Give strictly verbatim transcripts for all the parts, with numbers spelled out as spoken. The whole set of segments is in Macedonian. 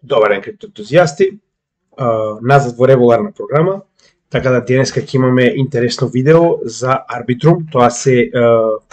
Добар ден, криптоентузијасти. Назад во регуларна програма. Така да денеска ќе имаме интересно видео за Arbitrum. Тоа се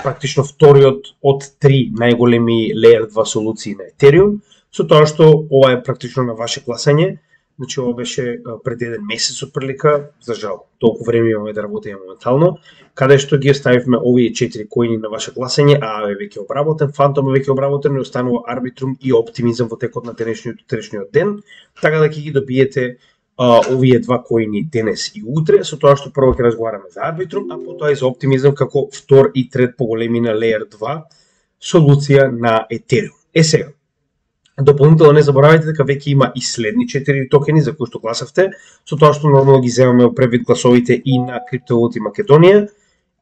практично вториот од три најголеми Layer два солуции на Ethereum, со тоа што ова е практично на ваше гласање. Значи ова беше пред еден месец отприлика, за жал, толку време имаме да работиме моментално, каде што ги оставивме овие четири коини на ваше гласање, а е веќе обработен, Phantom е веќе обработен и останува Arbitrum и Optimism во текот на денешниот утрешниот ден, така да ќе ги добиете а, овие два коини денес и утре, со тоа што прво ќе разговараме за Arbitrum, а потоа и за Optimism како втор и трет поголемина Layer два солуција на Ethereum. Е сега, дополнително не заборавајте дека веќе има и следни четири токени за кои што гласавте, со тоа што нормално ги земаме во превид гласовите и на Криптовалути Македонија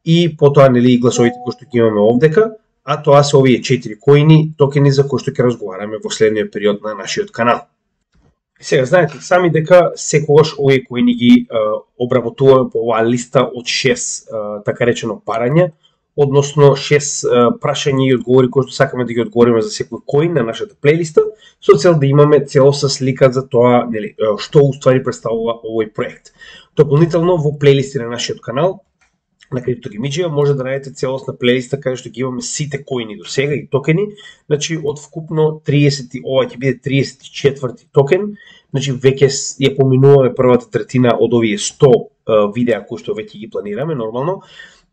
и потоа нели и гласовите кои што ги имаме овдека, а тоа се овие четири коини токени за кои што ќе разговараме во следниот период на нашиот канал. Сега знаете сами дека секогаш овие коини ги е, обработуваме по оваа листа од шест е, така речено парања, односно шест прашања и одговори кои што сакаме да ги одговориме за секој коин на нашата плейлиста, со цел да имаме целосна слика за тоа, нели, што уствари представува овој проект. Дополнително во плейлисти на нашиот канал на CryptoGaming може да најдете целосна плейлиста каде што ги имаме сите коини до сега и токени, значи од вкупно триесет, ова ќе биде триесет и четврти токен, значи веќе ја поминуваме првата третина од овие сто видеа кои што веќе ги планираме нормално.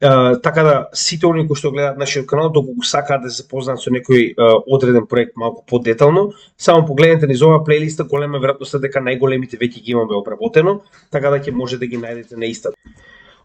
Uh, така да сите оние кои што гледаат нашиот канал, доколку сакаат да се запознаат со некој uh, одреден проект малку подетално, само погледнете низ оваа плейлиста, голема веројатност дека најголемите веќе ги имаме обработено, така да ќе може да ги најдете на истата.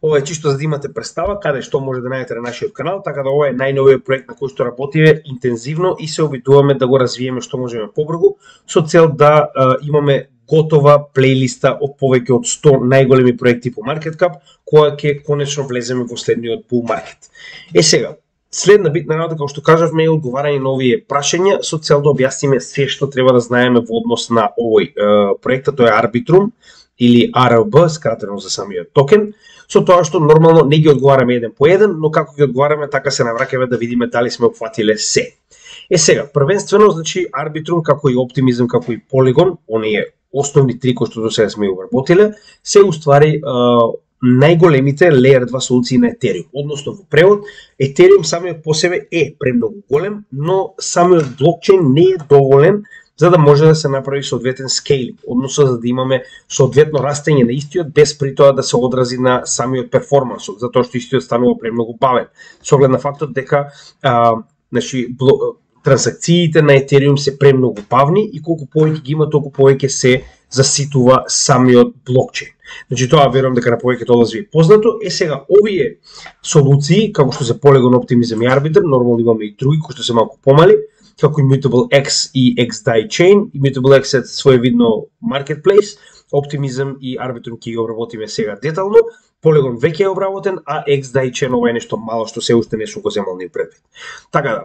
Ова е чисто за да имате представа каде што може да најдете на нашиот канал, така да ова е најновиот проект на кој што работиме интензивно и се обидуваме да го развиеме што можеме побрзо, со цел да uh, имаме готова плейлиста од повеќе од сто најголеми проекти по market cap, која ќе конечно влеземе во следниот bull market. Е сега, следна битна работа, како што кажавме, е одговарање на овие прашања со цел да објасниме се што треба да знаеме во однос на овој е, проекта, тоа е Arbitrum или Ар Ел Би, скратено за самиот токен, со тоа што нормално не ги одговараме еден по еден, но како ги одговараме така се навраќаме да видиме дали сме опфатиле се. Е сега, првенствено, значи Arbitrum како и Optimism, како и Polygon, оние основни три кои што до сега сме обработиле, се уствари најголемите Layer два солуции на Ethereum. Односно во превод, Ethereum самиот по себе е премногу голем, но самиот блокчейн не е доволен за да може да се направи соодветен скейлинг, односно за да имаме соодветно растење на истиот без при тоа да се одрази на самиот перформанс, затоа што истиот станува премногу бавен. Со оглед на фактот дека а, значи блок транзакциите на Ethereum се премногу бавни и колку повеќе ги има, толку повеќе се заситува самиот блокчейн. Значи тоа верувам дека на повеќето од вас ви е познато. Е сега овие солуции, како што се Polygon, Optimism и Arbitrum, нормално имаме и други кои што се малку помали, како Immutable X и X D A I Chain. Immutable X е своевидно marketplace, Optimism и Arbitrum ќе ги обработиме сега детално. Polygon веќе е обработен, а X D A I Chain ова е нешто мало што се уште не сум го земал ни предвид. Така да,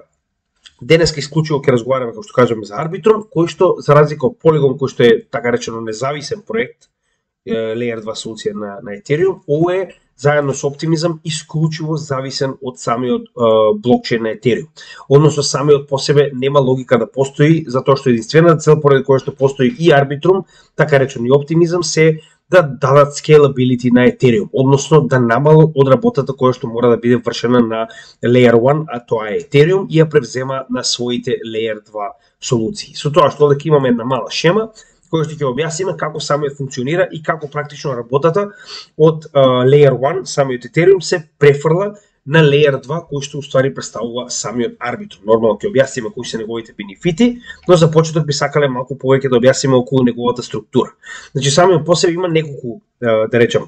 денеска исклучиво ќе разговараме, како што кажаме, за Arbitrum, кој што, за разлика од Polygon, кој што е, така речено, независен проект, Layer два солуција на, на Ethereum, ово е, заедно со Optimism, исклучиво зависен од самиот е, блокчейн на Ethereum. Односно, самиот по себе нема логика да постои, затоа што единствената цел поради која што постои и Arbitrum, така речено и Optimism, се да дадат scalability на Ethereum, односно да намалат од работата која што мора да биде вршена на Layer еден, а тоа е Ethereum, и ја превзема на своите Layer два солуции. Со тоа што дека имаме една мала шема, која што ќе објасниме како самиот функционира и како практично работата од uh, Layer еден, самиот Ethereum, се префрла на Layer два, кој што уствари представува самиот Arbitrum. Нормално ќе објасниме кои се неговите бенефити, но за почеток би сакале малку повеќе да објасниме околу неговата структура. Значи самиот по себе има неколку, да речем,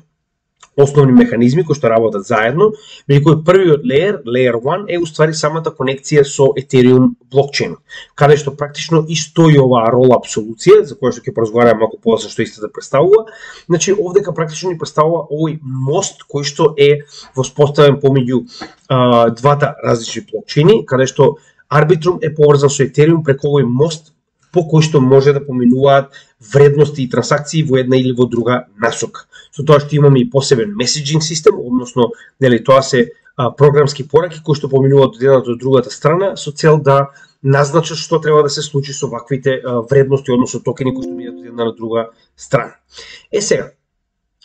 основни механизми кои што работат заедно, меѓу кои првиот layer, Layer еден, е уствари самата конекција со Ethereum блокчейн, каде што практично и стои оваа rollup солуција, за која што ќе поразговараме малку подоцна што истата представува. Значи овдека практично ни представува овој мост кој што е воспоставен помеѓу а, двата различни блокчейни, каде што Arbitrum е поврзан со Ethereum преку овој мост по кој што може да поминуваат вредности и трансакции во една или во друга насока. Со тоа што имаме и посебен меседжинг систем, односно, нели, тоа се а, програмски пораки кои што поминуваат од едната до другата страна со цел да назначат што треба да се случи со ваквите вредности, односно токени кои што бидат од една на друга страна. Е сега,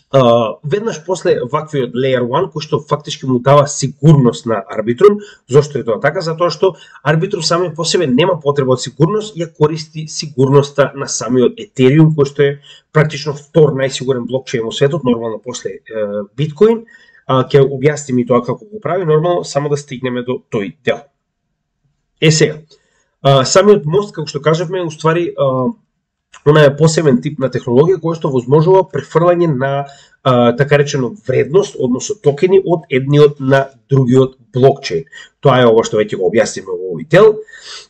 Uh, веднаш после ваквиот Layer еден, кој што фактички му дава сигурност на Arbitrum. Зошто е тоа така? Затоа што Arbitrum сами по себе нема потреба од сигурност, ја користи сигурноста на самиот Ethereum, кој што е практично втор најсигурен блокчейн во светот, нормално после uh, Bitcoin. Uh, ќе објасним и тоа како го прави, нормално само да стигнеме до тој дел. Е сега, uh, самиот мост, како што кажавме, уствари uh, она е посебен тип на технологија која што возможува префрлање на а, така речено вредност, односно токени од едниот на другиот блокчейн. Тоа е ова што веќе го објасниме во овој дел.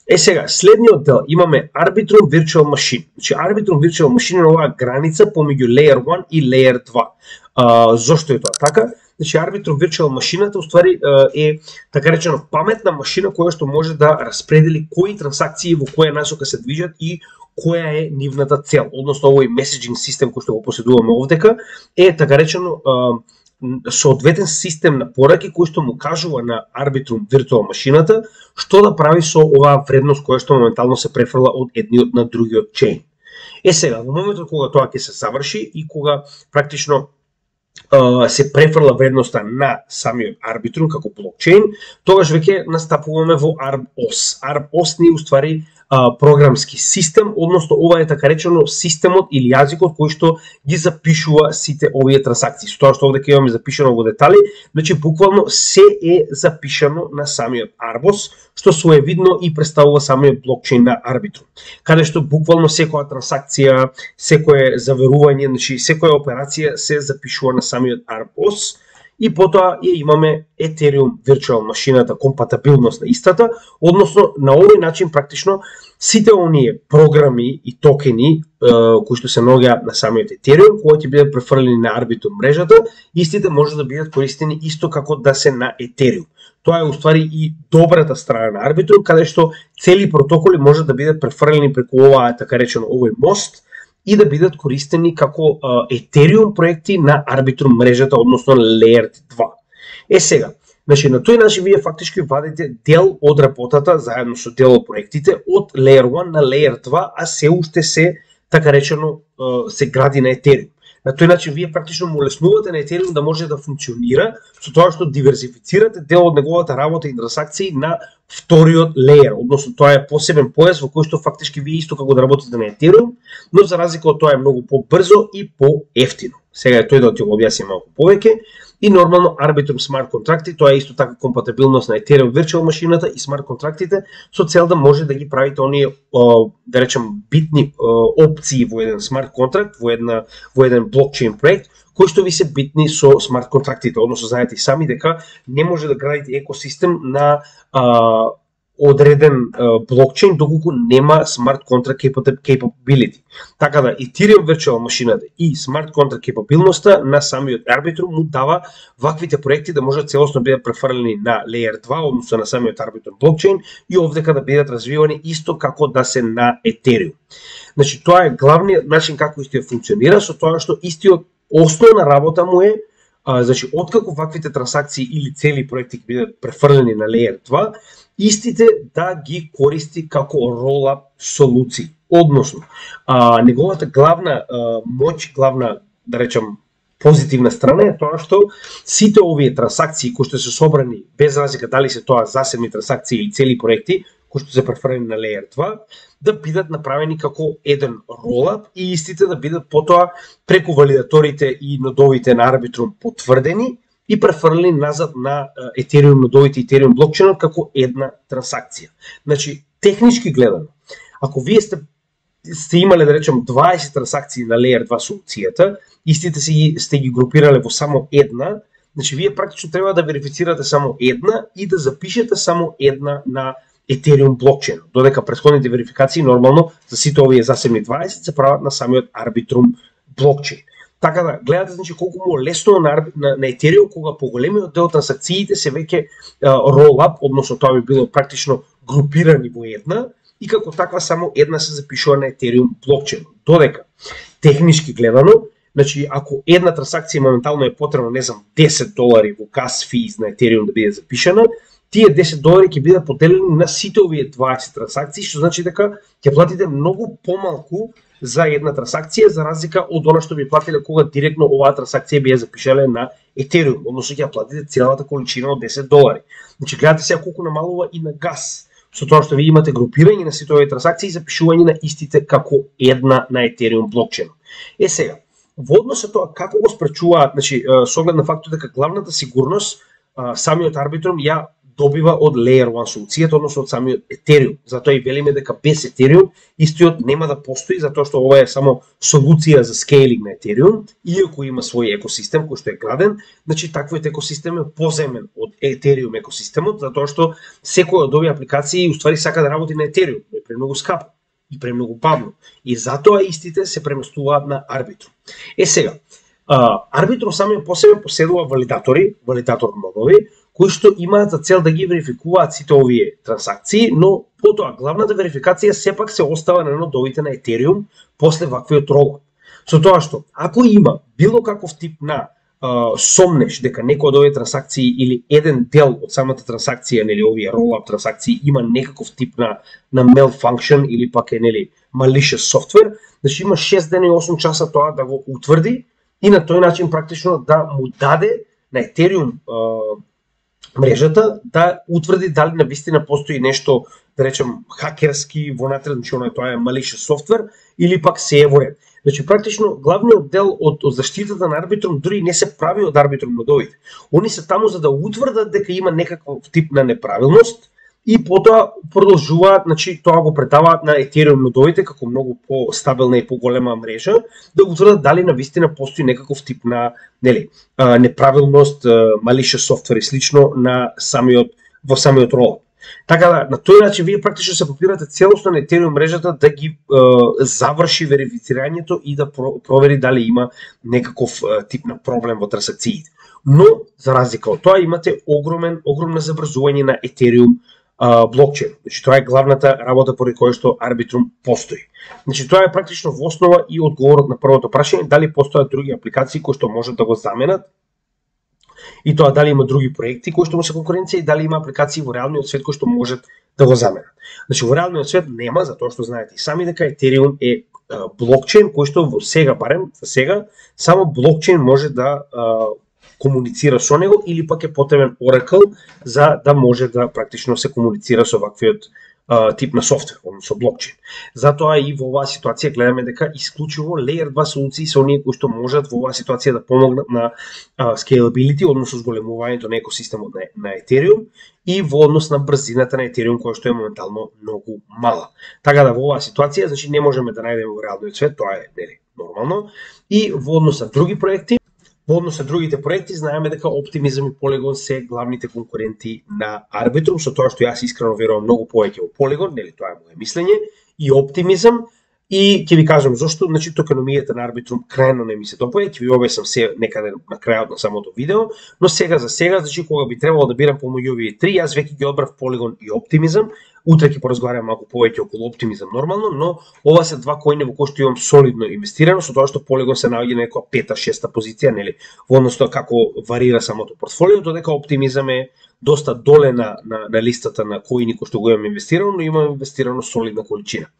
Е сега, следниот дел имаме Arbitrum Virtual Machine. Значи Arbitrum Virtual Machine е оваа граница помеѓу Layer еден и Layer два. А, зошто е тоа така? Значи Arbitrum Virtual машината уствари е така речено паметна машина која што може да распредели кои трансакции во која насока се движат и која е нивната цел. Односно овој меседжинг систем кој што го поседуваме овдека е така речено соодветен систем на пораки кој што му кажува на Arbitrum Virtual машината што да прави со оваа вредност која што моментално се префрла од едниот на другиот чейн. Е сега, во моментот кога тоа ќе се заврши и кога практично се префрла вредноста на самиот Arbitrum како блокчейн, тогаш веќе настапуваме во ArbOS. ArbOS ни уствари а, програмски систем, односно ова е така речено системот или јазикот кој што ги запишува сите овие трансакции. Со тоа што овде ќе имаме запишано во детали, значи буквално се е запишано на самиот ArbOS, што своевидно и представува самиот блокчейн на Arbitrum, каде што буквално секоја трансакција, секое заверување, значи секоја операција се запишува на самиот ArbOS. И потоа ја имаме Ethereum Virtual машината, компатабилност на истата, односно на овој начин практично сите оние програми и токени кои што се наоѓаат на самиот Ethereum, кои ќе бидат префрлени на Arbitrum мрежата, истите може да бидат користени исто како да се на Ethereum. Тоа е уствари и добрата страна на Arbitrum, каде што цели протоколи може да бидат префрлени преку оваа така речено овој мост и да бидат користени како uh, Ethereum проекти на Arbitrum мрежата, односно Layer два. Е сега, значи на тој начин вие фактички вадите дел од работата заедно со дел од проектите од Layer еден на Layer два, а се уште се така речено uh, се гради на Ethereum. На тој начин вие практично му леснувате на Ethereum да може да функционира со тоа што диверсифицирате дел од неговата работа и транзакции на вториот леер, односно тоа е посебен појас во кој што фактички вие исто како да работите на Ethereum, но за разлика од тоа е многу побрзо и поевтино. Сега е тој да ти го објасним малку повеќе. И нормално Arbitrum Smart контракти, тоа е исто така компатабилност на Ethereum Virtual машината и смарт контрактите со цел да може да ги правите оние, да речем, битни опции во еден смарт контракт, во една во еден блокчейн проект, кои што ви се битни со смарт контрактите, односно знаете и сами дека не може да градите екосистем на а, одреден а, блокчейн доколку нема смарт контракт capability. Така да Ethereum Virtual машината и смарт контракт capability на самиот Arbitrum му дава ваквите проекти да можат целосно бидат префрлени на Layer два, односно на самиот Arbitrum блокчейн и овдека да бидат развивани исто како да се на Ethereum. Значи тоа е главниот начин како истиот функционира, со тоа што истиот основна работа му е, а, значи откако ваквите трансакции или цели проекти ќе бидат префрлени на Layer два, истите да ги користи како roll-up солуции. Односно, а, неговата главна а, моќ, главна, да речем, позитивна страна е тоа што сите овие трансакции кои што се собрани, без разлика дали се тоа засебни трансакции или цели проекти, кои што се префрлени на Layer два, да бидат направени како еден roll-up и истите да бидат потоа преку валидаторите и нодовите на Arbitrum потврдени и префрлени назад на Ethereum нодовите и Ethereum блокчейнот како една трансакција. Значи, технички гледано, ако вие сте сте имале, да речем, дваесет трансакции на Layer два солуцијата, истите си сте ги групирале во само една, значи вие практично треба да верифицирате само една и да запишете само една на Ethereum блокчейн, додека претходните верификации нормално за сите овие засебни дваесет се прават на самиот Arbitrum блокчейн. Така да, гледате значи колку му лесно на, на, на Ethereum кога поголемиот дел трансакциите се веќе roll-up, односно тоа би било практично групирани во една и како таква само една се запишува на Ethereum блокчейн. Додека технички гледано, значи ако една трансакција моментално е потребно, не знам, десет долари во gas fees на Ethereum да биде запишана, тие десет долари ќе бидат поделени на сите овие дваесет трансакции, што значи дека ќе платите многу помалку за една трансакција, за разлика од она што би платиле кога директно оваа трансакција би ја запишале на Ethereum, односно ќе ја платите целата количина од десет долари. Значи гледате сега колку намалува и на газ, со тоа што ви имате групирање на сите овие трансакции и запишување на истите како една на Ethereum блокчейн. Е сега, во однос со тоа како го спречуваат, значи со оглед на фактот дека главната сигурност самиот Arbitrum ја добива од Layer еден солуцијата, односно од самиот Ethereum. Затоа и велиме дека без Ethereum истиот нема да постои, затоа што ова е само солуција за скейлинг на Ethereum, иако има свој екосистем кој што е граден, значи таквиот екосистем е поземен од Ethereum екосистемот, затоа што секоја од овие апликации уствари сака да работи на Ethereum, е премногу скапо и премногу бавно. И затоа истите се преместуваат на Arbitrum. Е сега, Arbitrum самиот по себе поседува валидатори, валидатор нодови, кои што имаат за цел да ги верификуваат сите овие трансакции, но потоа главната верификација сепак се остава на нодовите на Ethereum после ваквиот ролап. Со тоа што, ако има било каков тип на а, сомнеш дека некој од овие трансакции или еден дел од самата трансакција, нели овие ролап трансакции има некаков тип на на malfunction или пак е нели malicious software, значи има шест дена и осум часа тоа да го утврди и на тој начин практично да му даде на Ethereum а, мрежата да утврди дали навистина постои нешто, да речем, хакерски вонатре, значи оно тоа е malicious software или пак се е во ред. Значи практично главниот дел од, од заштитата на Arbitrum дури не се прави од Arbitrum нодовите. Они се таму за да утврдат дека има некаков тип на неправилност и потоа продолжуваат, значи тоа го предаваат на Ethereum нодовите како многу по-стабилна и поголема мрежа, да утврдат дали навистина постои некаков тип на, нели, неправилност, malicious software и слично на самиот во самиот ролап. Така да, на тој начин вие практично се попирате целосно на Ethereum мрежата да ги е, заврши верифицирањето и да про, провери дали има некаков е, тип на проблем во трансакциите. Но за разлика од тоа имате огромен огромно забрзување на Ethereum блокчейн. Значи тоа е главната работа поради која што Arbitrum постои. Значи тоа е практично во основа и одговорот на првото прашање дали постојат други апликации кои што можат да го заменат и тоа дали има други проекти кои што му се конкуренција и дали има апликации во реалниот свет кои што можат да го заменат. Значи во реалниот свет нема, затоа што знаете и сами дека Ethereum е блокчейн кој што во сега барем за сега само блокчейн може да комуницира со него или пак е потребен Oracle за да може да практично се комуницира со ваквиот uh, тип на софтвер, односно блокчейн. Затоа и во оваа ситуација гледаме дека исклучиво Layer два солуции се оние кои што можат во оваа ситуација да помогнат на uh, scalability, односно зголемувањето на екосистемот на, на Ethereum и во однос на брзината на Ethereum која што е моментално многу мала. Така да во оваа ситуација, значи не можеме да најдеме во реалниот свет, тоа е нели нормално, и во однос на други проекти. Во однос на другите проекти, знаеме дека Optimism и Polygon се главните конкуренти на Arbitrum, со тоа што јас искрено верувам многу повеќе во Polygon, нели тоа е мое мислење, и Optimism, и ќе ви кажам зошто, значи токеномијата на Arbitrum крајно не ми се допаѓа, ќе ви објаснам се некаде на крајот на самото видео, но сега за сега, значи кога би требало да бирам помеѓу овие три, јас веќе ги одбрав Polygon и Optimism. Утре ќе поразговарам малку повеќе околу Optimism нормално, но ова се два коини во кои што имам солидно инвестирано, со тоа што Polygon се наоѓа на некоја пета, шеста позиција, нели, во однос на како варира самото портфолио, додека Optimism е доста доле на, на, на листата на коини кои што го имам инвестирано, но имам инвестирано солидна количина.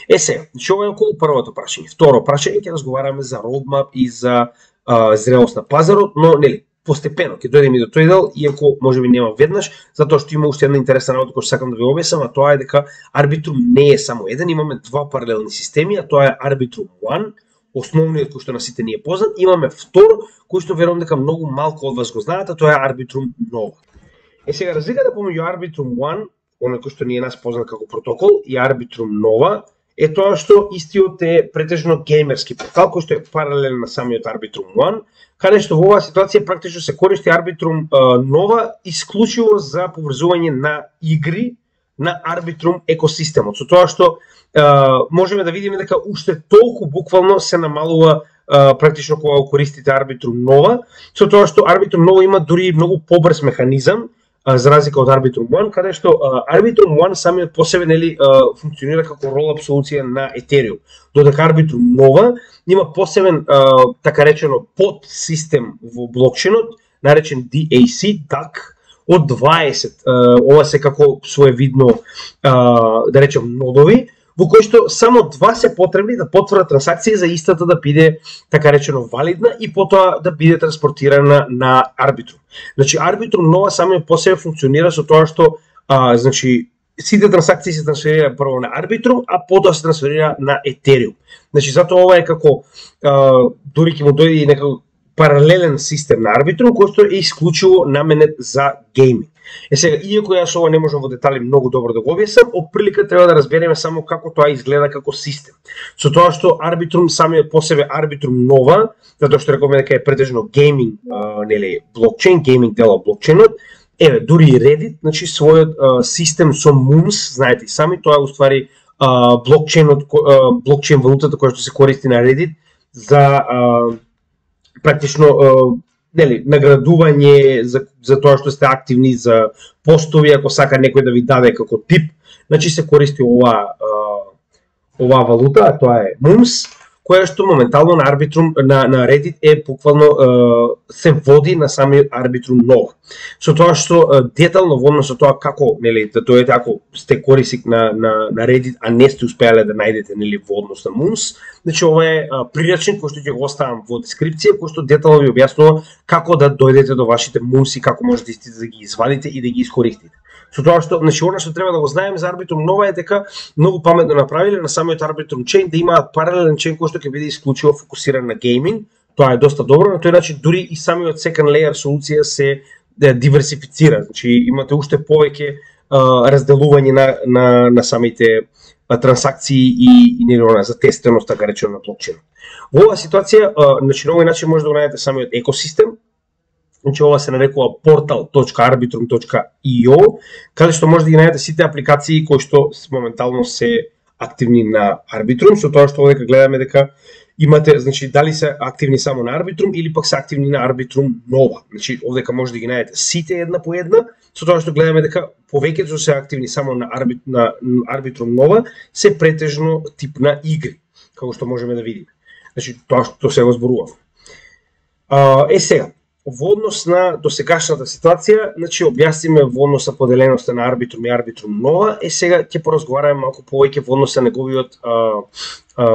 Е сега, значи ова е околу првото прашање. Второ прашање ќе разговараме за roadmap и за а, зрелост на пазарот, но нели постепено ќе дојдеме и до тој дел, иако можеби нема веднаш, затоа што има уште една интересна работа која што сакам да ви објаснам, а тоа е дека Arbitrum не е само еден, имаме два паралелни системи, а тоа е Arbitrum еден, основниот кој што на сите ни е познат, имаме втор кој што верувам дека многу малку од вас го знаат, а тоа е Arbitrum Nova. Е сега разликата помеѓу Arbitrum еден, оној кој што ни е нас познат како протокол, и Arbitrum Nova е тоа што истиот е претежно геймерски портал кој што е паралелен на самиот Arbitrum еден, каде што во оваа ситуација практично се користи Arbitrum Nova исклучиво за поврзување на игри на Arbitrum екосистемот. Со тоа што можеме да видиме дека уште толку буквално се намалува практично кога го користите Arbitrum Nova, со тоа што Arbitrum Nova има дури многу побрз механизам за разлика од Arbitrum еден, каде што Arbitrum еден самиот по себе нели функционира како ролап солуција на Ethereum, додека Arbitrum Nova има посебен така речено подсистем во блокчейнот, наречен ди ей си, ди ей си, од дваесет, ова се како своевидно, да речем, нодови, во кои што само два се потребни да потврдат трансакција за истата да биде, така речено, валидна и потоа да биде транспортирана на Arbitrum. Значи, Arbitrum нова само по себе функционира со тоа што, а, значи, сите трансакции се трансферира прво на Arbitrum, а потоа се трансферира на Ethereum. Значи, затоа ова е како, а, дури ќе му дојде и некако паралелен систем на Arbitrum, кој што е исклучиво наменет за гейминг. Е сега, иако јас ова не можам во детали многу добро да го објаснам, отприлика треба да разбереме само како тоа изгледа како систем. Со тоа што Arbitrum самиот по себе Arbitrum нова, затоа што рековме дека е претежно гейминг, нели, блокчейн, гейминг дел од блокчейнот, еве, дури и Reddit, значи својот а, систем со Moons, знаете и сами, тоа е уствари а, блокчейнот, а, блокчейн валутата која што се користи на Reddit за а, практично а, нели, наградување за, за тоа што сте активни, за постови, ако сака некој да ви даде како тип, значи се користи ова, ова валута, а тоа е Moons, која што моментално на Arbitrum, на, на Reddit е буквално се води на самиот Arbitrum нова. Со тоа што детално во однос со тоа како, нели, да дојдете ако сте корисник на, на, на Reddit, а не сте успеале да најдете, нели, во однос на Moons, значи ова е прирачник кој што ќе го оставам во дескрипција, кој што детално ви објаснува како да дојдете до вашите Moons и како можете да ги извадите и да ги искористите. Со тоа што, значи, она што треба да го знаеме за Arbitrum нова е дека многу паметно направиле на самиот Arbitrum chain да имаат паралелен chain кој што ќе биде исклучиво фокусиран на гейминг. Тоа е доста добро, на тој начин дури и самиот second layer солуција се да, диверсифицира. Значи имате уште повеќе а, разделување на, на, на самите а, трансакции и, и нели за тестеност, така речено, на блокчейн. Во оваа ситуација, а, значи на овој начин може да го најдете самиот екосистем. Значи ова се нарекува portal точка arbitrum точка и о, каде што може да ги најдете сите апликации кои што моментално се активни на Arbitrum, со тоа што овде гледаме дека имате, значи, дали се активни само на Arbitrum или пак се активни на Arbitrum нова. Значи овде може да ги најдете сите една по една, со тоа што гледаме дека повеќето се активни само на, Arbit, на Arbitrum нова, се претежно тип на игри, како што можеме да видиме. Значи тоа што се го зборував. Е сега, во однос на досегашната ситуација, значи објасниме во однос на поделеноста на Arbitrum и Arbitrum нова, е сега ќе поразговараме малку повеќе во однос на неговиот а, а,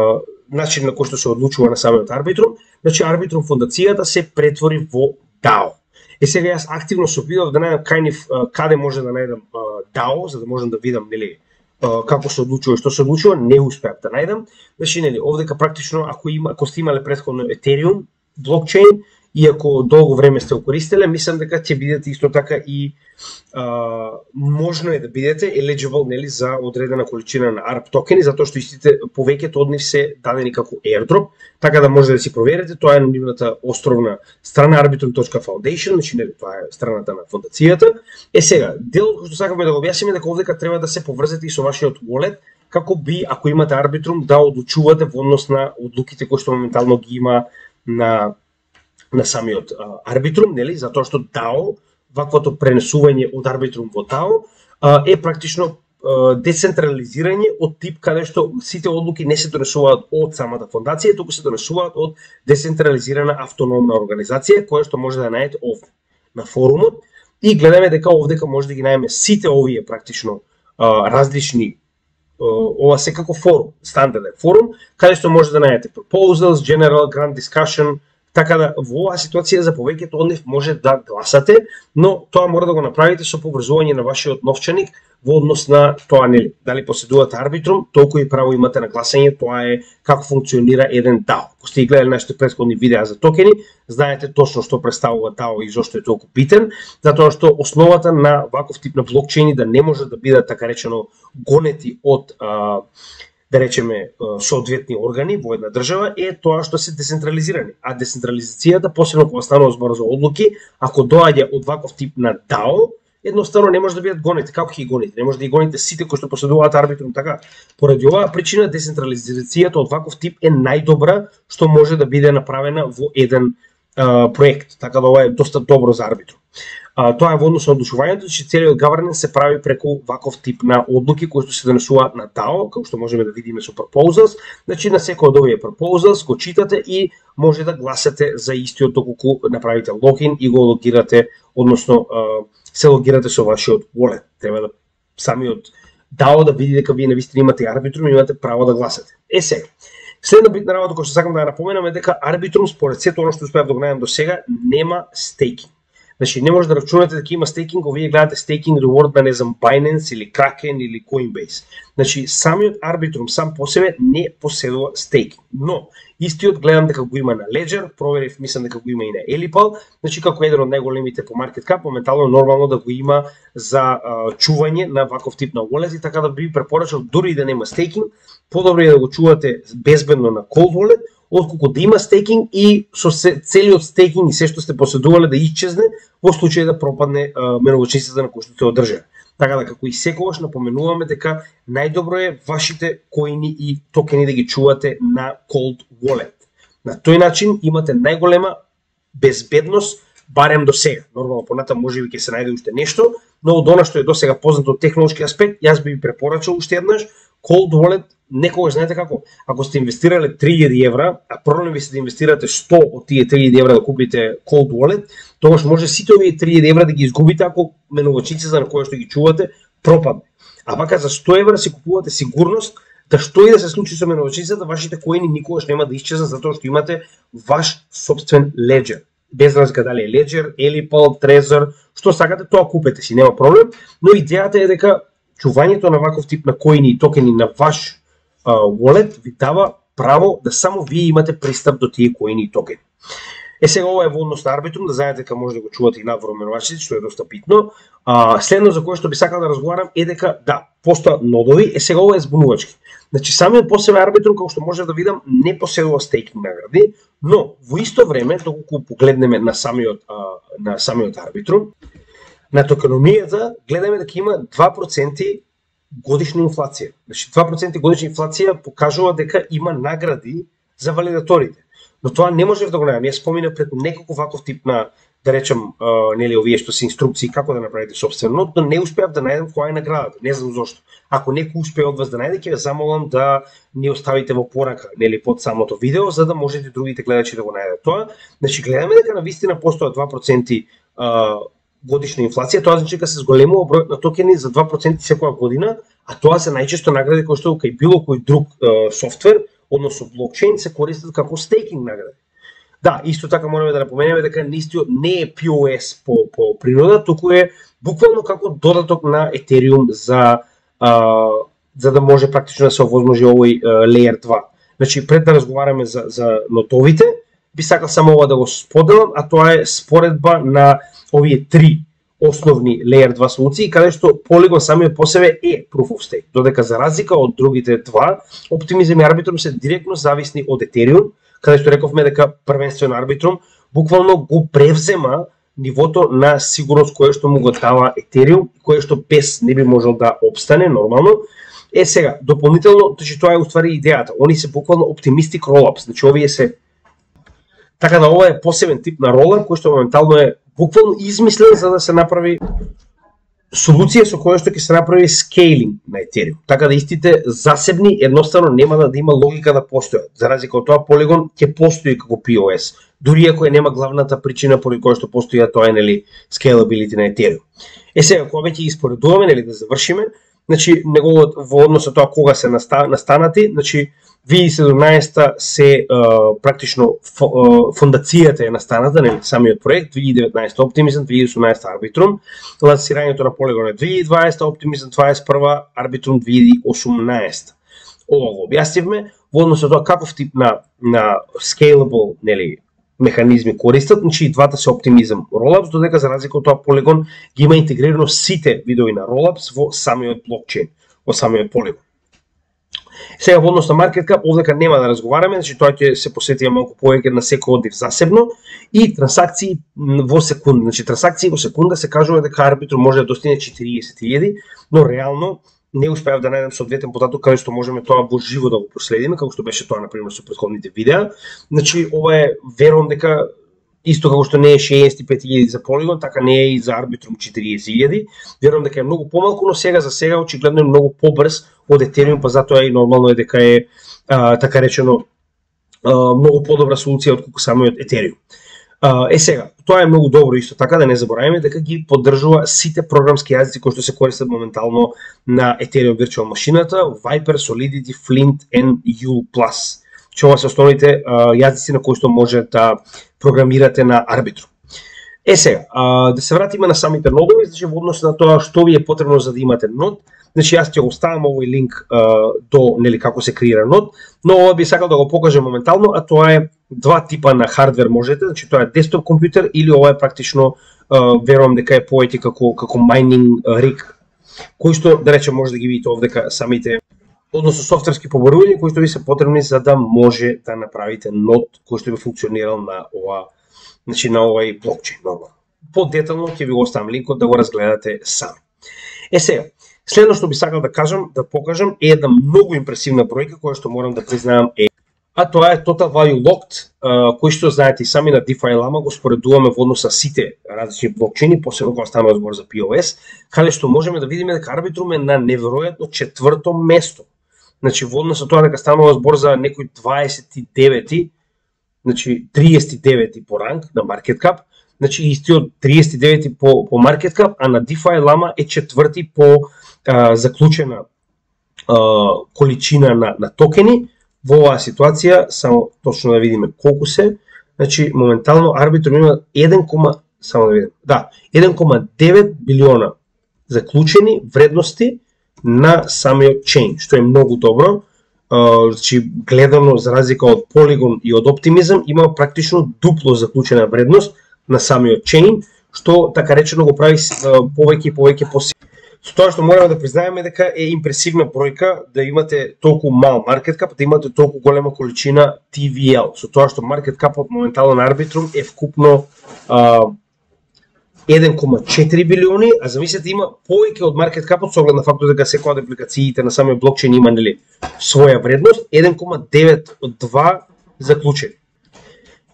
начин на кој што се одлучува на самиот Arbitrum. Значи Arbitrum фондацијата се претвори во дао. Е сега јас активно се обидов да најдам кајнив каде може да најдам дао, за да можам да видам, нели, како се одлучува и што се одлучува, не успеав да најдам. Значи, нели, овдека практично ако има, ако сте имале претходно Ethereum блокчейн, иако долго време сте го користеле, мислам дека ќе бидете исто така и а, можно е да бидете eligible, нели, за одредена количина на арп токени, затоа што истите повеќето од нив се дадени како airdrop, така да може да си проверите, тоа е на нивната островна страна arbitrum точка foundation, значи нели тоа е страната на фондацијата. Е сега, дел кој што сакаме да го објасниме дека овдека треба да се поврзете и со вашиот wallet, како би ако имате Arbitrum да одлучувате во однос на одлуките кои што моментално ги има на на самиот а, Arbitrum, нели, затоа што дао, ваквото пренесување од Arbitrum во дао, а, е практично а, децентрализирање од тип каде што сите одлуки не се донесуваат од самата фондација, туку се донесуваат од децентрализирана автономна организација, која што може да најдете овде на форумот, и гледаме дека овдека може да ги најдеме сите овие практично а, различни, а, ова секако форум, стандарден форум, каде што може да најдете proposals, general, grand discussion. Така да во оваа ситуација за повеќето од нив може да гласате, но тоа мора да го направите со поврзување на вашиот новчаник во однос на тоа, нели, дали поседувате Arbitrum, толку и право имате на гласање, тоа е како функционира еден дао. Ако сте гледали нашите претходни видеа за токени, знаете точно што представува дао и зошто е толку битен, затоа што основата на ваков тип на блокчейни да не може да бидат така речено гонети од а, да речеме соодветни органи во една држава е тоа што се децентрализирани. А децентрализацијата, посебно кога станува збор за одлуки, ако доаѓа од ваков тип на дао, едноставно не може да бидат гонети. Како ќе ги гоните? Не може да ги гоните сите кои што поседуваат Arbitrum, така. Поради оваа причина децентрализацијата од ваков тип е најдобра што може да биде направена во еден а, проект. Така да ова е доста добро за Arbitrum. А, тоа е во однос на одлучувањето, че целиот governance се прави преку ваков тип на одлуки кои што се донесуваат на дао, како што можеме да видиме со proposals. Значи на секој од овие proposals го читате и може да гласате за истиот доколку направите логин и го логирате, односно се логирате со вашиот wallet. Треба да самиот дао да види дека вие навистина имате Arbitrum и имате право да гласате. Е сега, следна битна работа која што сакам да ја напоменам е дека Arbitrum според сето оно што успеав да го најдам до сега нема стейкинг. Значи не може да рачунате дека има стейкинг, ако вие гледате стейкинг reward на не знам Binance или Kraken или Coinbase. Значи самиот Arbitrum сам по себе не поседува стейкинг, но истиот гледам дека го има на Ledger, проверив, мислам дека го има и на Elipal, значи како еден од најголемите по market cap, моментално нормално да го има за а, чување на ваков тип на wallet, и така да би препорачал дури и да нема стейкинг, подобро е да го чувате безбедно на cold wallet, отколку да има стейкинг и со целиот стейкинг и се што сте поседувале да исчезне во случај да пропадне менувачницата на кој што се одржа. Така да како и секогаш напоменуваме дека најдобро е вашите коини и токени да ги чувате на cold wallet. На тој начин имате најголема безбедност барем до сега. Нормално понатаму можеби ќе се најде уште нешто, но од она што е до сега познато од технолошки аспект, јас би ви препорачал уште еднаш cold wallet. Некогаш знаете како, ако сте инвестирале три илјади евра, а проблем ви се да инвестирате сто од тие три илјади евра да купите cold wallet, тогаш може сите овие три илјади евра да ги изгубите ако менувачниците на која што ги чувате пропадне. А вака за сто евра си купувате сигурност да што и да се случи со менувачницата, вашите коини никогаш нема да исчезнат затоа што имате ваш собствен Ledger. Без разлика дали е Ledger, Elipal, Trezor, што сакате, тоа купете си, нема проблем, но идејата е дека чувањето на ваков тип на коини и токени на ваш Uh, wallet ви дава право да само вие имате пристап до тие коини и токени. Е сега ова е во однос на Arbitrum, да знаете дека може да го чувате и надвор менувачите, што е доста битно. Uh, следно за кое што би сакал да разговарам е дека да, постојат нодови, е сега ова е збунувачки. Значи самиот по себе Arbitrum, како што може да видам, не поседува стейкинг награди, но во исто време, доколку погледнеме на самиот uh, на самиот Arbitrum, на токеномијата гледаме дека има два проценти годишна инфлација. Значи два проценти годишна инфлација покажува дека има награди за валидаторите. Но тоа не можев да го најдам. Јас споминав преку неколку ваков тип на, да речем, uh, нели овие што се инструкции како да направите собствено, но не успеав да најдам која е наградата. Не знам зошто. Ако некој успее од вас да најде, ќе ве замолам да ни оставите во порака, нели под самото видео, за да можете другите гледачи да го најдат тоа. Значи гледаме дека навистина постојат два проценти uh, годишна инфлација, тоа значи дека се зголемува бројот на токени за два проценти секоја година, а тоа се најчесто награди кои што кај било кој друг е, софтвер, односно блокчейн, се користат како стейкинг награди. Да, исто така мораме да напоменеме дека нистиот не е пи о ес по, по природа, туку е буквално како додаток на Ethereum за, а, за да може практично да се овозможи овој а, Layer два. Значи, пред да разговараме за, за нотовите, би сакал само ова да го споделам, а тоа е споредба на овие три основни Layer два солуции, каде што Polygon самиот по себе е Proof of Stake, додека за разлика од другите два, Optimism и Arbitrum се директно зависни од Ethereum, каде што рековме дека првенствено Arbitrum буквално го превзема нивото на сигурност кое што му го дава Ethereum, кое што без не би можел да обстане нормално. Е сега, дополнително, значи тоа е уствари идејата. Они се буквално optimistic rollups, значи овие се така да ова е посебен тип на ролап кој што моментално е буквално измислен за да се направи солуција со која што ќе се направи скейлинг на Ethereum. Така да истите засебни едноставно нема да, да има логика да постојат. За разлика од тоа Polygon ќе постои како пи о ес, дури ако е нема главната причина поради која што постои тоа е нели scalability на Ethereum. Е сега кога веќе испоредуваме нели да завршиме, значи неговот во однос на тоа кога се настанати, значи две илјади и седумнаесета се uh, практично uh, фондацијата е настаната, нели самиот проект, две илјади и деветнаесета Optimism, две илјади и осумнаесета Arbitrum, лансирањето на Polygon е две илјади и дваесета, Optimism дваесет и прва, Arbitrum две илјади и осумнаесета. Ова го објаснивме во однос на тоа каков тип на на scalable, нели механизми користат, значи и двата се Optimism Rollups, додека за разлика од тоа Polygon ги има интегрирано сите видови на Rollups во самиот блокчейн, во самиот Polygon. Сега во однос на market cap, овдека нема да разговараме, значи тоа ќе се посветиме малку повеќе на секој одив засебно и трансакции во секунда. Значи трансакции во секунда се кажува дека Arbitrum може да достигне четириесет илјади, но реално не успеав да најдем соодветен податок каде што можеме тоа во живо да го проследиме, како што беше тоа на пример со претходните видеа. Значи ова е верувам дека исто како што не е шеесет и пет илјади за Polygon, така не е и за Arbitrum четириесет илјади. Верувам дека е многу помалку, но сега за сега очигледно е многу побрз од Ethereum, па затоа и нормално е дека е а, така речено а, многу подобра солуција од колку самиот Ethereum. Е сега, тоа е многу добро исто така да не забораваме дека ги поддржува сите програмски јазици кои што се користат моментално на Ethereum Virtual машината, Viper, Solidity, Flint and U plus. Че ова се основните јазици на кои што може да програмирате на Arbitrum. Е сега, да се вратиме на самите нодови, значи во однос на тоа што ви е потребно за да имате нод. Значи јас ќе го оставам овој линк а, до нели како се креира нод, но ова би сакал да го покажам моментално, а тоа е два типа на хардвер можете, значи тоа е десктоп компјутер или ова е практично а, верувам дека е повеќе како како майнинг риг, кој што да речем може да ги видите овдека самите односно софтверски побарувања кои што ви се потребни за да може да направите нод кој што би функционирал на ова, значи на овој блокчейн нормално. Подетално ќе ви го оставам линкот да го разгледате сами. Е сега, следно што би сакал да кажам, да покажам е една многу импресивна бројка која што морам да признаам е, а тоа е Total Value Locked, кој што знаете и сами на DeFi Lama го споредуваме во однос со сите различни блокчейни, посебно кога станува збор за P O S, каде што можеме да видиме дека Arbitrum е на неверојатно четврто место. Значи во однос со тоа дека станува збор за некој дваесет и девети, значи триесет и девети по ранг на market cap, значи истиот триесет и девети по по market cap, а на DeFi Lama е четврти по а, заклучена а, количина на на токени. Во оваа ситуација само точно да видиме колку се, значи моментално Arbitrum има еден, само да видим. Да, еден кома девет билиона заклучени вредности на самиот чейн, што е многу добро. Uh, значи гледано за разлика од Polygon и од Optimism има практично дупло заклучена вредност на самиот чейн, што така речено го прави uh, повеќе и повеќе посилно. Со тоа што мораме да признаеме дека е импресивна бројка да имате толку мал маркет кап, да имате толку голема количина T V L. Со тоа што маркет капот моментално на Arbitrum е вкупно uh, еден кома четири билиони, а замислете има повеќе од маркет капот со оглед на фактот дека секоја од апликациите на самиот блокчейн има нели своја вредност, еден кома девет од два заклучени.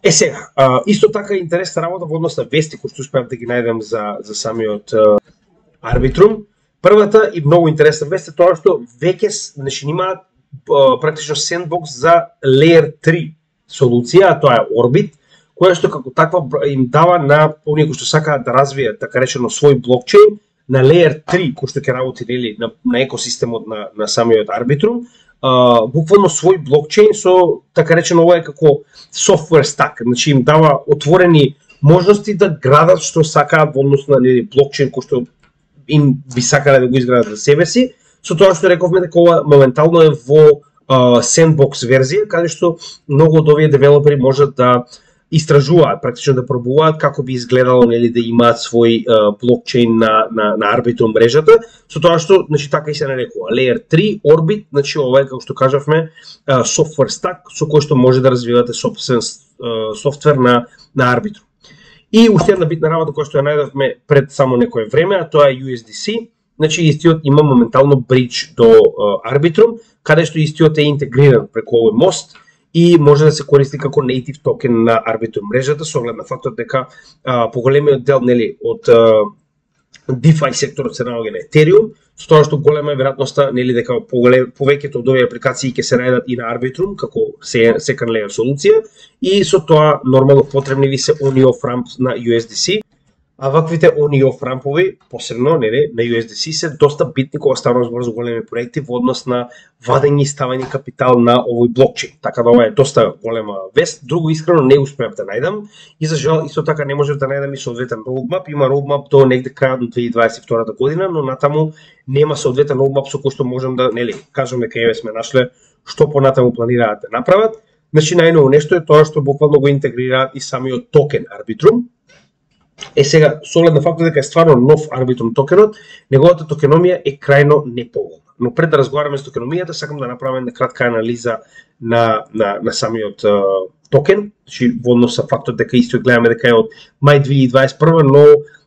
Е сега, а, исто така е интересна работа во однос на вести кои што успеав да ги најдам за за самиот а, Arbitrum. Првата и многу интересна вест е тоа што веќе значи има практично sandbox за Layer три солуција, а тоа е Orbit, која што како таква им дава на оние кои што сакаат да развијат така речено свој блокчейн на Layer три, кој што ќе работи нели на, на екосистемот на на самиот Arbitrum, а, буквално свој блокчейн со така речено ова е како software stack, значи им дава отворени можности да градат што сакаат во однос на нели блокчейн кој што им би сакале да го изградат за себе си, со тоа што рековме дека ова моментално е во uh, sandbox верзија, каде што многу од овие девелопери можат да истражуваат, практично да пробуваат како би изгледало нели да имаат свој uh, блокчейн на на на Arbitrum мрежата, со тоа што значи така и се нарекува Layer три Orbit, значи ова е како што кажавме uh, software stack со кој што може да развивате собствен uh, софтвер на на Arbitrum. И уште една битна работа која што ја најдовме пред само некое време, а тоа е U S D C. Значи истиот има моментално бридж до uh, Arbitrum, каде што истиот е интегриран преку овој мост и може да се користи како native токен на Arbitrum мрежата со оглед на фактот дека uh, поголемиот дел нели од uh, DeFi секторот се наоѓа на Ethereum, со тоа што голема е веројатноста нели дека повеќето од овие апликации ќе се најдат и на Arbitrum како second layer солуција и со тоа нормално потребни ви се on-off ramp на U S D C. А ваквите on-off рампови, посебно нели на U S D C се доста битни кога станува збор за големи проекти во однос на вадење и ставање капитал на овој блокчейн. Така да ова е доста голема вест. Друго искрено не успеав да најдам и за жал исто така не можев да најдам и соодветен roadmap. Има roadmap до негде крајот на две илјади дваесет и втора година, но натаму нема соодветен roadmap со кој што можам да нели кажеме дека еве сме нашле што понатаму планираат да направат. Значи најново нешто е тоа што буквално го интегрираат и самиот токен Arbitrum. Е сега, со оглед на фактот дека е стварно нов Arbitrum токенот, неговата токеномија е крајно неповолна. Но пред да разговараме за токеномијата, сакам да направам една кратка анализа на на на самиот uh, токен, значи во однос со фактот дека исто гледаме дека е од мај две илјади дваесет и прва, но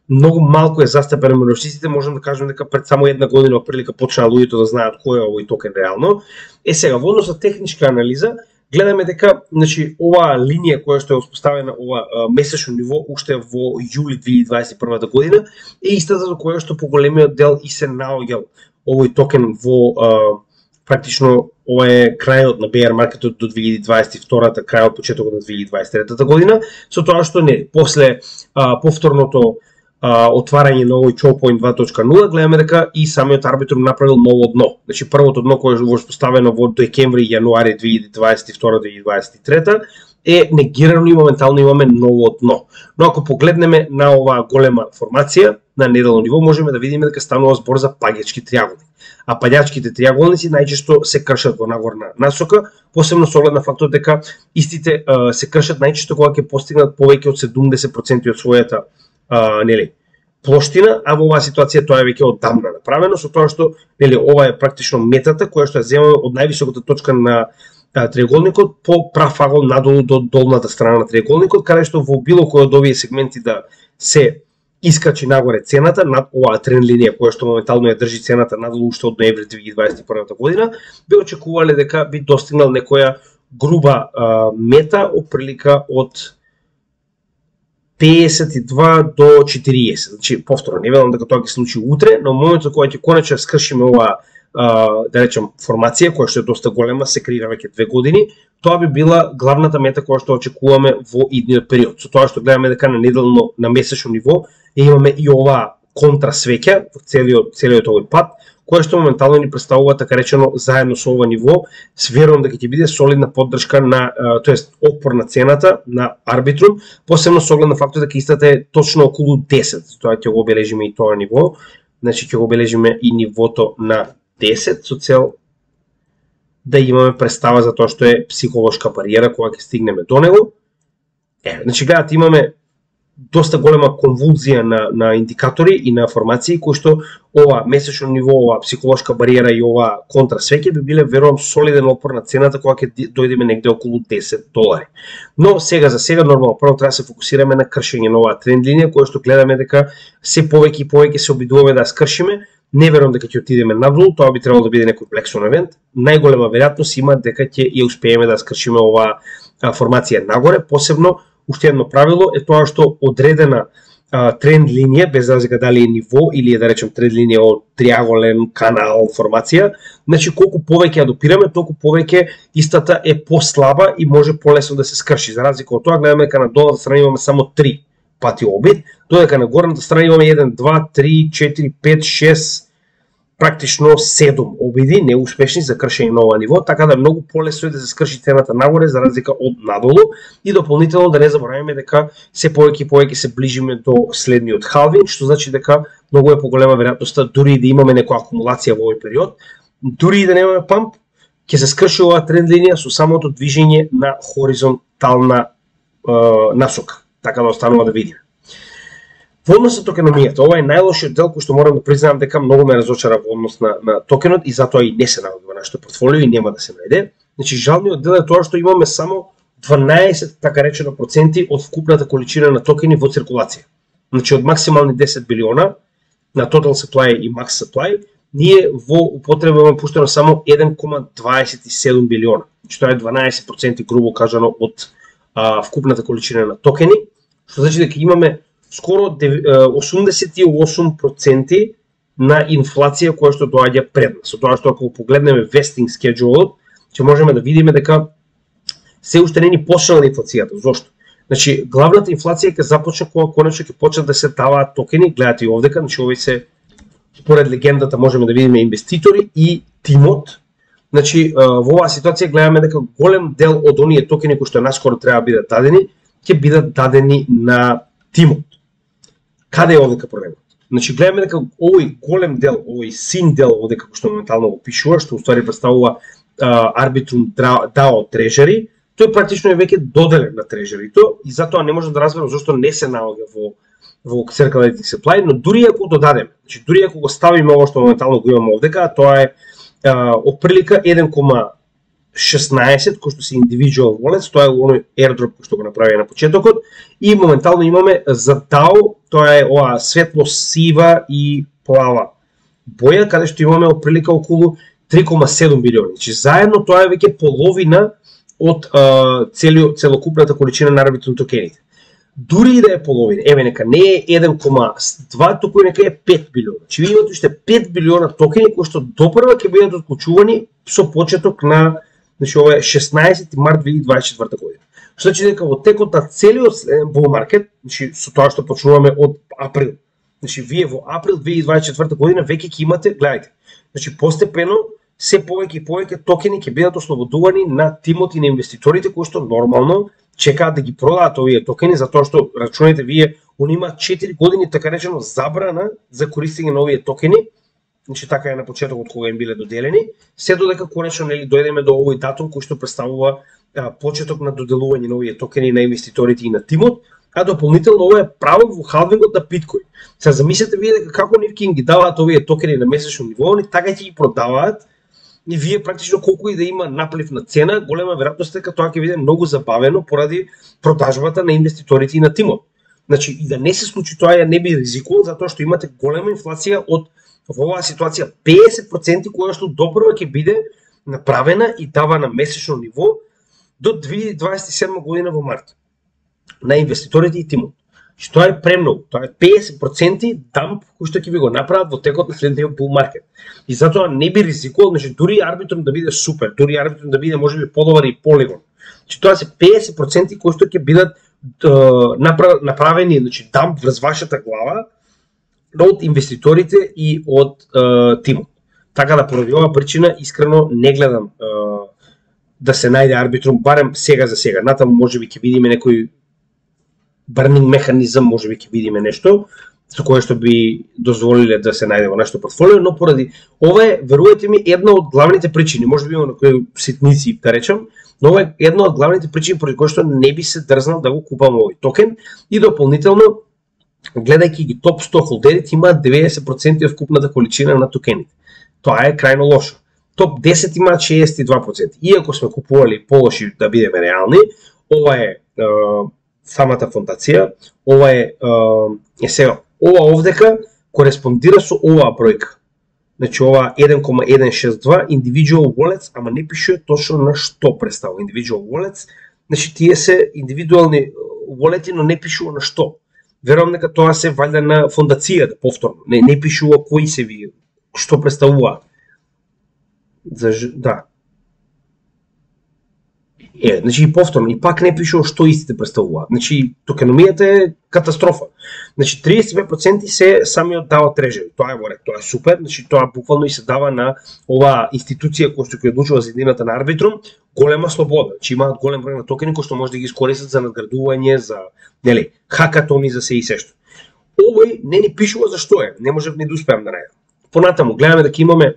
многу малку е застапено меѓу сите, можам да кажам дека пред само една година оприлика почнаа луѓето да знаат кој е овој токен реално. Е сега, во однос со техничка анализа, гледаме дека значи оваа линија која што е успоставена ова месечно ниво уште во јули две илјади дваесет и прва година е истата за која што поголемиот дел и се наоѓал овој токен во а, практично ова е крајот на bear маркетот до две илјади дваесет и втора, крајот почетокот на две илјади дваесет и трета година, со тоа што не, после а, повторното а, отварање на овој choke point два точка нула, гледаме дека и самиот арбитрум направил ново дно. Значи првото дно кое е поставено во декември и јануари две илјади дваесет и втора до две илјади дваесет и трета е негирано и моментално имаме ново дно. Но ако погледнеме на оваа голема формација на неделно ниво, можеме да видиме дека станува збор за паѓачки триаголник. А паѓачките триаголници најчесто се кршат во нагорна насока, посебно со оглед на фактот дека истите а, се кршат најчесто кога ќе постигнат повеќе од седумдесет проценти од својата а, нели, плоштина, а во оваа ситуација тоа е веќе оддамна направено, со тоа што нели, ова е практично метата која што ја земаме од највисоката точка на триаголникот по прав агол надолу до долната страна на триаголникот, каде што во било кој од овие сегменти да се искачи нагоре цената над оваа тренд линија која што моментално ја држи цената надолу уште од ноември две илјади дваесет и прва година, би очекувале дека би достигнал некоја груба а, мета оприлика од пеесет и два до четириесет. Значи повторно, не велам дека тоа ќе случи утре, но моментот кога ќе конечно скршиме оваа Uh, да речем формација која што е доста голема, се креира веќе две години, тоа би била главната мета која што очекуваме во идниот период. Со тоа што гледаме дека на неделно, на месечно ниво имаме и оваа контрасвеќа во целиот целиот овој пат, која што моментално ни представува така речено заедно со ова ниво, верувам дека ќе биде солидна поддршка на, uh, тоест отпор на цената на арбитрум, посебно со оглед на фактот дека истата е точно околу десет. Тоа ќе го обележиме и тоа ниво, значи ќе го обележиме и нивото на десет со цел да имаме представа за тоа што е психолошка бариера кога ќе стигнеме до него. Е, значи гледате, имаме доста голема конвулзија на, на индикатори и на формации кои што ова месечно ниво, ова психолошка бариера и ова контрасвеќе би биле верувам солиден опор на цената кога ќе дојдеме негде околу десет долари. Но сега за сега нормално прво треба да се фокусираме на кршење на оваа тренд линија која што гледаме дека се повеќе и повеќе се обидуваме да скршиме. Не верувам дека ќе отидеме надолу, тоа би требало да биде некој Black Swan евент. Најголема веројатност има дека ќе ја успееме да скршиме оваа формација нагоре, посебно уште едно правило е тоа што одредена а, тренд линија, без разлика дали е ниво или е да речем тренд линија од триаголен канал формација, значи колку повеќе ја допираме, толку повеќе истата е послаба и може полесно да се скрши. За разлика од тоа гледаме дека на долната страна имаме само три пати обид, додека на горната страна имаме еден, два, три, четири, пет, шест, практично седум обиди неуспешни за кршење на ова ниво, така да многу полесно е да се скрши цената нагоре за разлика од надолу и дополнително да не забораваме дека се повеќе и повеќе се ближиме до следниот халвинг, што значи дека многу е поголема веројатноста дури и да имаме некоја акумулација во овој период, дури и да немаме памп, ќе се скрши оваа тренд линија со самото движење на хоризонтална е, насока. Така да останува да видиме. Во однос на токеномијата, ова е најлошиот дел кој што морам да признаам дека многу ме разочара во однос на, на токенот и затоа и не се наоѓа во нашето портфолио и нема да се најде. Значи жалниот дел е тоа што имаме само дванаесет така речено проценти од вкупната количина на токени во циркулација. Значи од максимални десет билиона на total supply и max supply, ние во употреба имаме пуштено само еден кома дваесет и седум билиона. Значи тоа е дванаесет проценти грубо кажано од а, вкупната количина на токени, што значи дека имаме скоро осумдесет и осум проценти на инфлација која што доаѓа пред нас. Со тоа што ако погледнеме vesting schedule, ќе можеме да видиме дека се уште не ни почнала инфлацијата. Зошто? Значи главната инфлација ќе започне кога конечно ќе почнат да се даваат токени, гледате и овдека, значи овој се според легендата можеме да видиме инвеститори и тимот. Значи во оваа ситуација гледаме дека голем дел од оние токени кои што наскоро треба да бидат дадени, ќе бидат дадени на тимот. Каде е овдека проблемот? Значи гледаме дека овој голем дел, овој син дел овдека кој што моментално го пишува, што уствари представува Arbitrum дао Treasury, тој практично е веќе доделен на Treasury-то и затоа не можам да разберам зашто не се наоѓа во во Circulating Supply, но дури ако додадеме, значи дури ако го ставиме ово што моментално го имаме овдека, тоа е отприлика еден кома шеснаесет кој што се individual wallets, тоа е оној airdrop кој што го направи на почетокот и моментално имаме за дао, тоа е ова светло сива и плава боја, каде што имаме отприлика околу три кома седум билиони. Значи заедно тоа е веќе половина од целиот целокупната количина на Arbitrum токените. дури и да е половина, еве нека не е еден кома два, туку нека е пет билиона. Значи ви имате уште пет билиона токени кои што допрва ќе бидат отклучувани со почеток на, значи ова е шеснаесети март две илјади дваесет и четврта година. Што значи дека во текот на целиот bull market, значи со тоа што почнуваме од април. Значи вие во април две илјади дваесет и четврта година веќе ќе имате, гледајте. Значи постепено се повеќе и повеќе токени ќе бидат ослободувани на тимот и на инвеститорите кои што нормално чекаат да ги продаат овие токени, затоа што рачунајте вие, они имаат четири години така речено забрана за користење на овие токени. Значи така е на почетокот кога им биле доделени, се додека конечно нели дојдеме до овој датум кој што представува а, почеток на доделување на овие токени на инвеститорите и на тимот, а дополнително ова е право во халвингот на биткоин. Сега замислете вие дека како нивки им ги даваат овие токени на месечно ниво, они така ќе ги продаваат и вие практично колку и да има наплив на цена, голема веројатност е дека тоа ќе биде многу забавено поради продажбата на инвеститорите и на тимот. Значи и да не се случи тоа, ја не би ризикувал затоа што имате голема инфлација од во оваа ситуација педесет проценти која што допрва ќе биде направена и давана месечно ниво до две илјади дваесет и седма година во март на инвеститорите и тимот. Што тоа е премногу, тоа е педесет проценти дамп кој што ќе ви го направат во текот на следниот bull market. И затоа не би ризикувал, значи дури арбитрум да биде супер, дури арбитрум да биде можеби подобар и Polygon. Значи тоа се педесет проценти кои што ќе бидат направени, значи дамп врз вашата глава од инвеститорите и од е, тимот. Така да поради оваа причина искрено не гледам е, да се најде арбитрум, барем сега за сега. Натаму можеби ќе видиме некој burning механизам, можеби ќе видиме нешто со кое што би дозволиле да се најде во нашето портфолио, но поради ова е, верувате ми, една од главните причини, можеби има некои ситници да речам, но ова е една од главните причини поради кои што не би се дрзнал да го купам овој токен и дополнително гледајќи ги топ сто холдерите имаат деветдесет проценти од вкупната количина на токените. Тоа е крајно лошо. топ десет имаат шеесет и два проценти. Иако сме купували полоши да бидеме реални, ова е, е самата фондација, ова е, е, е сега, ова овдека кореспондира со оваа бројка. Значи ова еден кома еден шест два individual wallets, ама не пишува точно на што представува individual wallets. Значи тие се индивидуални wallet-и, но не пишува на што. Верувам дека тоа се валјда на фондацијата повторно. Не не пишува кои се ви, што представуваат. За да. Е, значи и повторно, и пак не пишува што истите представуваат. Значи токеномијата е катастрофа. Значи триесет и пет проценти се самиот дао трежери. Тоа е во ред, тоа е супер. Значи тоа буквално и се дава на оваа институција која што ќе одлучува за едината на арбитрум голема слобода. Значи имаат голем број на токени кои што може да ги искористат за надградување, за нели, хакатони, за се и се што. Овој не ни пишува за што е, не можев ни да успеам да најдам. Понатаму гледаме дека имаме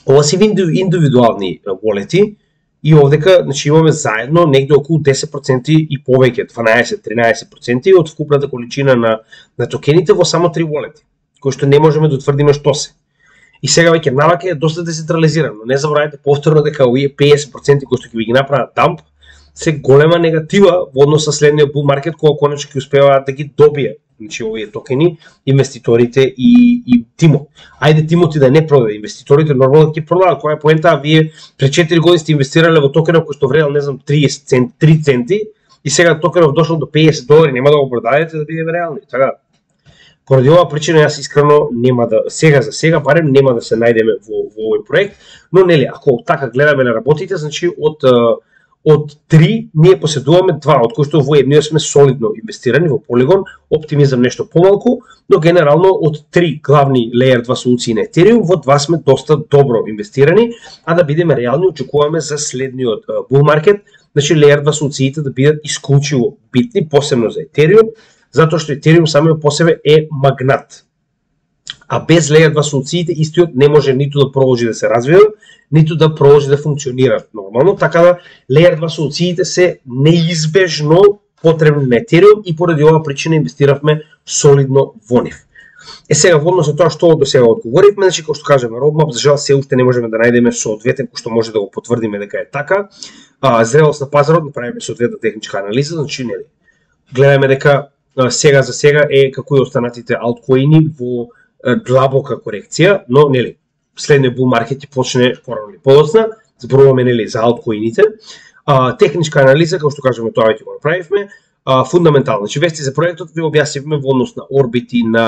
ова се индивидуални wallet-и и овдека значи имаме заедно негде околу десет проценти и повеќе, дванаесет до тринаесет проценти од вкупната количина на на токените во само три wallet-и, кои што не можеме да утврдиме што се. И сега веќе навака е доста децентрализирано. Не заборавајте повторно дека овие педесет проценти кои што ќе ви ги направат дамп се голема негатива во однос со следниот bull market кога конечно ќе успеvaат да ги добијат, значи овие токени инвеститорите и и тимот. Ајде тимот и да не продаде, инвеститорите нормално ќе продадат. Која е поента? Вие пред четири години сте инвестирале во токенов кој што вредел не знам триесет центи, три центи и сега токенов дошол до педесет долари, нема да го продадете да бидеме реални. Така поради оваа причина јас искрено нема да сега за сега барем нема да се најдеме во во овој проект, но нели ако така гледаме на работите, значи од од три ние поседуваме два, од кои што во едниот сме солидно инвестирани во Polygon, оптимизам нешто помалку, но генерално од три главни Layer два солуции на Ethereum, во два сме доста добро инвестирани, а да бидеме реални очекуваме за следниот bull market, значи Layer два солуциите да бидат исклучиво битни, посебно за Ethereum, затоа што Ethereum самиот по себе е магнат. А без Layer два солуциите истиот не може ниту да продолжи да се развива, ниту да продолжи да функционира нормално, така да Layer два солуциите се неизбежно потребни на Ethereum и поради оваа причина инвестиравме солидно во нив. Е сега во однос на тоа што до сега одговоривме, значи како што кажеме, roadmap за жал се уште не можеме да најдеме соодветен кој што може да го потврдиме дека е така. А, зрелост на пазарот направиме соодветна техничка анализа, значи нели гледаме дека а, сега за сега е како и останатите алткоини во длабока корекција, но нели следниот bull market ќе почне порано или подоцна, зборуваме нели за алткоините. А, техничка анализа, како што кажеме, тоа веќе го направивме. а, фундаментално. Значи, вести за проектот ви објаснивме во однос на Orbit и на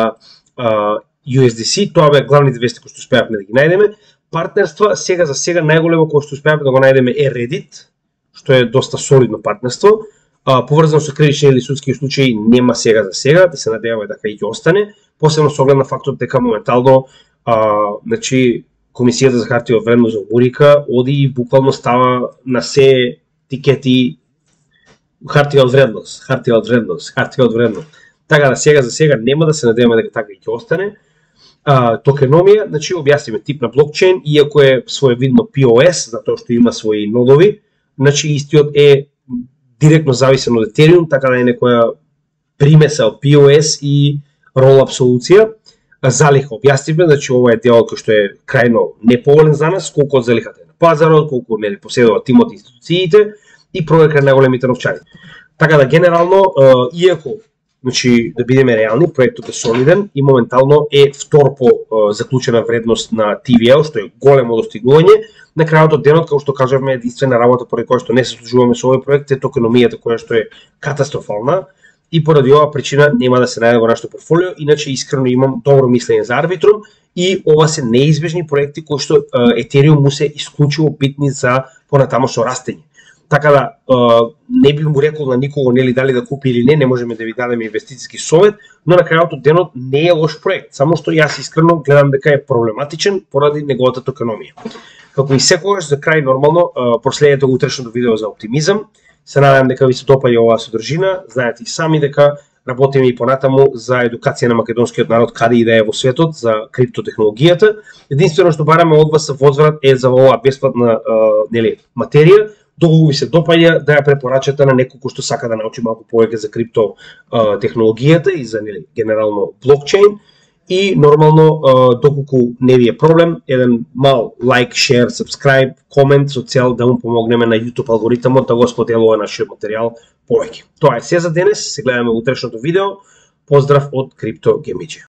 а, ю ес ди си, тоа беа главните вести кои што успеавме да ги најдеме. Партнерства, сега за сега најголемо кој што успеавме да го најдеме е Reddit, што е доста солидно партнерство. А, поврзано со кривични или судски случаи нема сега за сега, да се надеваме дека и ќе остане, посебно со оглед на фактот дека моментално а, значи, Комисијата за хартија од вредност за Мурика оди и буквално става на се тикети хартија од вредност, хартија од вредност, хартија од вредност. Така да сега за сега нема, да се надеваме дека така и ќе остане. А, токеномија, значи објасниме тип на блокчейн, иако е своевидно пи о ес, затоа што има своји нодови, значи истиот е директно зависен од Ethereum, така да е некоја примеса од пи о ес и rollup солуција. Залиха објаснивме, значи ова е делот кој што е крајно неповолен за нас, колку од залихата е на пазарот, колку нели поседува тимот и институциите и проверка на големите новчари. Така да генерално, иако значи да бидеме реални, проектот е солиден и моментално е втор по заклучена вредност на ти ви ел, што е големо достигнување. На крајот од денот, како што кажавме, единствена работа поради која што не се служуваме со овој проект е токеномијата која што е катастрофална и поради оваа причина нема да се најде во нашето портфолио, иначе искрено имам добро мислење за Arbitrum и ова се неизбежни проекти кои што Ethereum му се исклучиво битни за понатамошно растење. Така да не би му рекол на никого нели дали да купи или не, не можеме да ви дадеме инвестициски совет, но на крајот од денот не е лош проект, само што јас искрено гледам дека е проблематичен поради неговата токеномија. Како и секогаш за крај нормално проследете го утрешното видео за оптимизам. Се надевам дека ви се допаѓа оваа содржина, знаете и сами дека работиме и понатаму за едукација на македонскиот народ каде и да е во светот за криптотехнологијата. Единствено што бараме од вас возврат е за оваа бесплатна нели материја. Доколку ви се допаѓа да ја препорачате на некој кој што сака да научи малку повеќе за крипто технологијата и за нели генерално блокчейн. И нормално, доколку не ви е проблем, еден мал лайк, шер, сабскрайб, комент со цел да му помогнеме на YouTube алгоритмот да го споделува нашиот материјал повеќе. Тоа е се за денес, се гледаме во утрешното видео. Поздрав од Крипто Гемиџи.